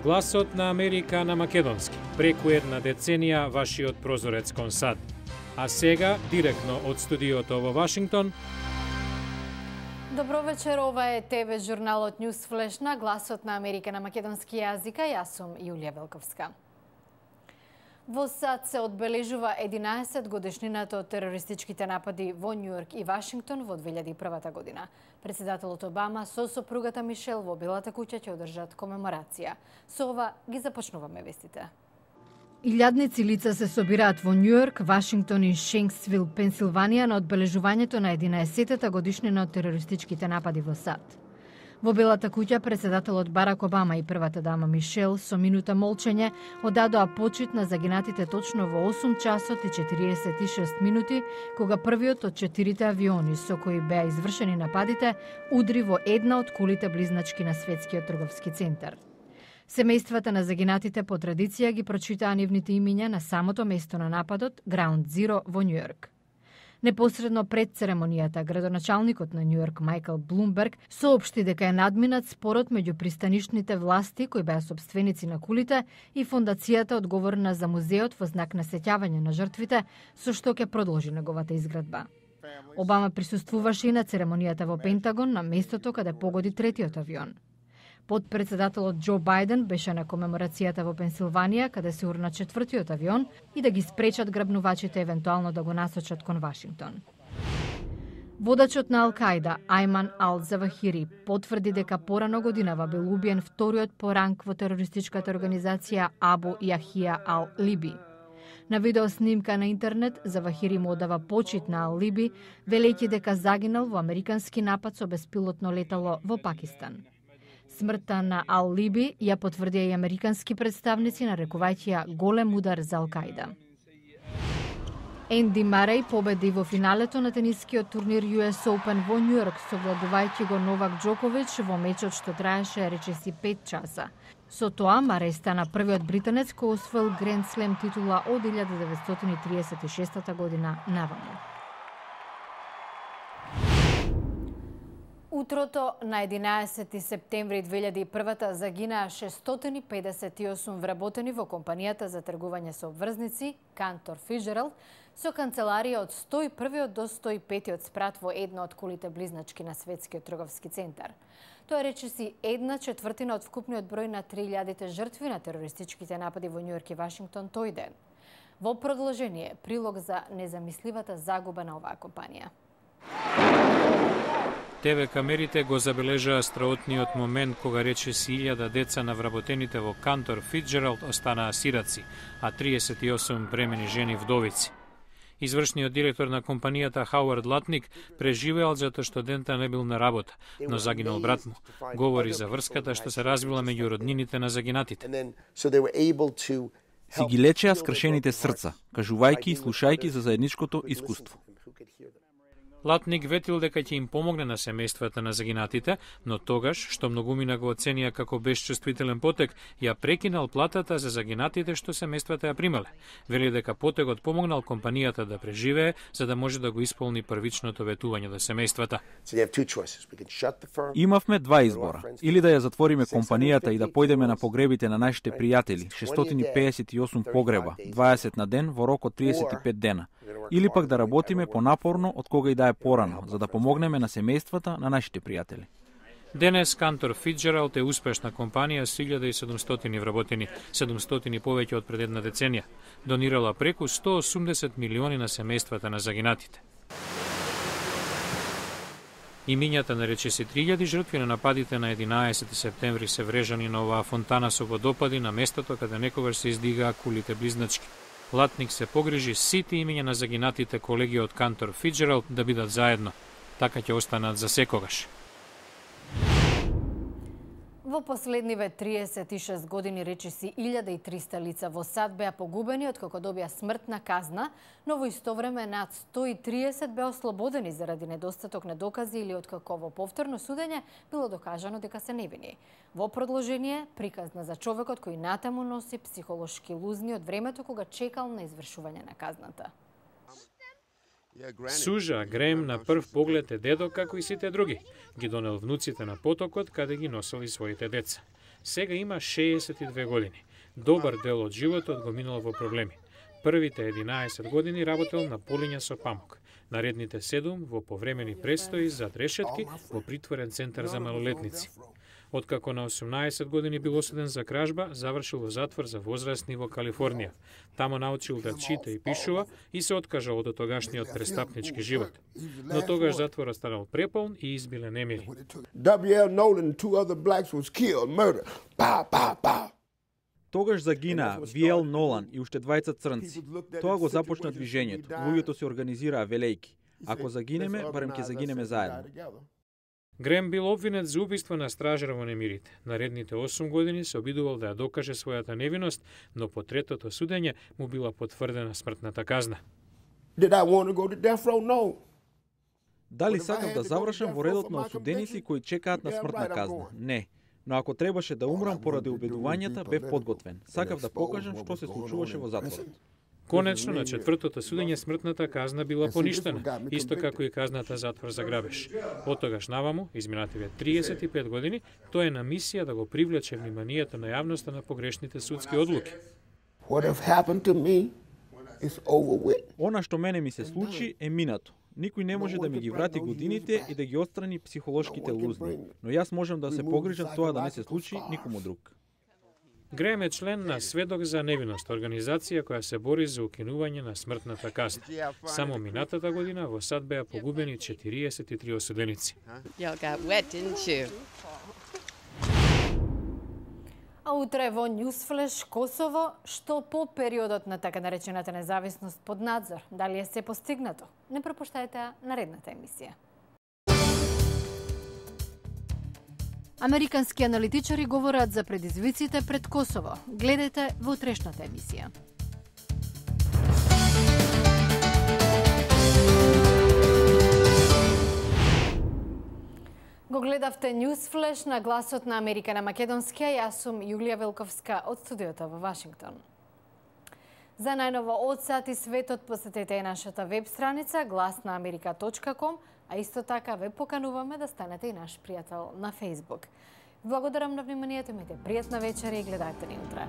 Гласот на Америка на македонски. Преку една деценија вашиот прозорец кон САД. А сега, директно од студиото во Вашингтон. Добро вечер, ова е ТВ журналот News Flash на Гласот на Америка на македонски јазик, а јас сум Јулија Велковска. Во САД се одбележува 11 годишнината од терористичките напади во Њујорк и Вашингтон во 2001 година. Председателот Обама со сопругата Мишел во Белата куќа ќе одржат комеморација. Со ова ги започнуваме вестите. Илјадници лица се собираат во Њујорк, Вашингтон и Шенксвил, Пенсилванија на одбележувањето на 11-та годишнина од терористичките напади во САД. Во Белата куќа председателот Барак Обама и првата дама Мишел со минута молчење одадоа почит на загинатите точно во 8 часот и 46 минути, кога првиот од 4 авиони со кои беа извршени нападите удри во една од кулите близначки на Светскиот трговски центар. Семејствата на загинатите по традиција ги прочитаа нивните имиња на самото место на нападот, Ground Zero во Њујорк. Непосредно пред церемонијата, градоначалникот на Њујорк Мајкл Блумберг соопшти дека е надминат спорот меѓу пристанишните власти кои беа сопственици на кулите и фондацијата одговорна за музеот во знак на сеќавање на жртвите, со што ќе продолжи неговата изградба. Обама присуствуваше и на церемонијата во Пентагон на местото каде погоди третиот авион. Подпредседателот Џо Бајден беше на комеморацијата во Пенсилванија, каде се урна четвртиот авион и да ги спречат грабнувачите евентуално да го насочат кон Вашингтон. Водачот на Ал-Кајда, Ајман Ал-Завахири, потврди дека порано годинава бил убиен вториот по ранг во терористичката организација Абу Јахија Ал-Либи. На видеоснимка на интернет, Завахири му одава почит на Ал-Либи, велејќи дека загинал во американски напад со беспилотно летало во Пакистан. Смртта на Ал-Либи ја потврдија и американски представници, нарекувајќи ја голем удар за Ал-Кајда. Енди Мареј победи во финалето на тенискиот турнир US Open во Њујорк, совладувајќи го Новак Џоковиќ во мечот што траеше речиси 5 часа. Со тоа Мареј стана првиот британец кој освоил Гренд Слем титула од 1936 година наваму. Утрото на 11 септември 2001 загинаа 658 вработени во компанијата за тргување со обврзници Кантор Фиџералд со канцеларија од 101 до 105 спрат во една од кулите близначки на Светскиот трговски центар. Тоа речиси 1/4 од вкупниот број на 3000 жртви на терористичките напади во Њујорк и Вашингтон тој ден. Во продолжение, прилог за незамисливата загуба на оваа компанија. ТВ камерите го забележаа страотниот момент кога речиси 1000 деца на вработените во Кантор Фиџералд останаа сираци, а 38 бремени жени вдовици. Извршниот директор на компанијата Хауард Латник преживеал затоа што дента не бил на работа, но загинал брат му. Говори за врската што се развила меѓу роднините на загинатите. Си ги лечеа скршените срца, кажувајќи и слушајќи за заедничкото искуство. Латник ветил дека ќе им помогне на семејствата на загинатите, но тогаш, што многумина го оценија како безчувствителен потек, ја прекинал платата за загинатите што семејствата ја примале. Вели дека потегот помогнал компанијата да преживее, за да може да го исполни првичното ветување до семејствата. Имавме два избора. Или да ја затвориме компанијата и да појдеме на погребите на нашите пријатели, 658 погреба, 20 на ден во рок од 35 дена. Или пак да работиме понапорно од кога и да е порано, за да помогнеме на семејствата на нашите пријатели. Денес Кантор Фиџералд е успешна компанија со 1700 вработени, 700 повеќе од пред една деценија. Донирала преку 180 милиони на семејствата на загинатите. Имињата на речиси 3000 жртви на нападите на 11 септември се врежани на оваа фонтана со водопади на местото каде некогаш се издигаа кулите близначки. Латник се погрижи сите имиња на загинатите колеги од Кантор Фиџералд да бидат заедно. Така ќе останат за секогаш. Во последниве 36 години речиси 1300 лица во САД беа погубени откако добија смртна казна, но во исто време над 130 беа ослободени заради недостаток на докази или откако во повторно судење било докажано дека се невини. Во продолжение, приказна за човекот кој натаму носи психолошки лузни од времето кога чекал на извршување на казната. Сужа Грем на прв поглед е дедо како и сите други. Ги донел внуците на потокот каде ги носели своите деца. сега има 62 години. Добар дел од животот го минал во проблеми. Првите 11 години работел на полиња со памук. Наредните 7 во повремени престои зад решетки во притворен центар за малолетници. Откако на 18 години бил осуден за кражба, завршил во затвор за возрастни во Калифорнија. Тамо научил да чита и пишува и се откажал од тогашниот престапнички живот. Но тогаш затворот станал преполн и избиле немири. W.L. Nolan and 2 other blacks was killed, murdered. Pow, pow, pow. Тогаш загинаа В.Л. Нолан и уште двајца црнци. Тоа го започна движењето. Луѓето се организираа велејки. Ако загинеме, барем ќе загинеме заедно. Грем бил обвинет за убиство на стражар во немирите. Наредните 8 години се обидувал да ја докаже својата невиност, но по третото судење му била потврдена смртната казна. Did I want to go to death row? No. Дали сакав да завршам во редот на осуденици кои чекаат на смртна казна? Не. Но ако требаше да умрам поради убедувањата, бев подготвен. Сакав да покажам што се случуваше во затворот. Конечно, на четвртото судење смртната казна била поништена, исто како и казната затвор за грабеж. Од тогаш наваму, изминативе 35 години, тој е на мисија да го привлече вниманието на јавноста на погрешните судски одлуки. Она што мене ми се случи е минато. Никој не може да ми ги врати годините и да ги отстрани психолошките лузни. Но јас можам да се погрижам тоа да не се случи никому друг. Грем е член на Сведок за невиност, организација која се бори за укинување на смртната казна. Само минатата година во САД беа погубени 43 осуденици. А утре во Ньюсфлеш Косово, што по периодот на така наречената независност под надзор, дали е се постигнато? Не пропуштајте наредната емисија. Американски аналитичари говорат за предизвиците пред Косово. Гледајте во утрешната емисија. Го гледавте Ньюсфлеш на гласот на Америка на македонски, јас сум Јулија Велковска од студиото во Вашингтон. За најново од САД и светот посетете нашата веб страница glasnaamerika.com, а исто така ве покануваме да станете и наш пријател на Facebook. Благодарам на вниманието, имајте пријатна вечер и гледате ни утре.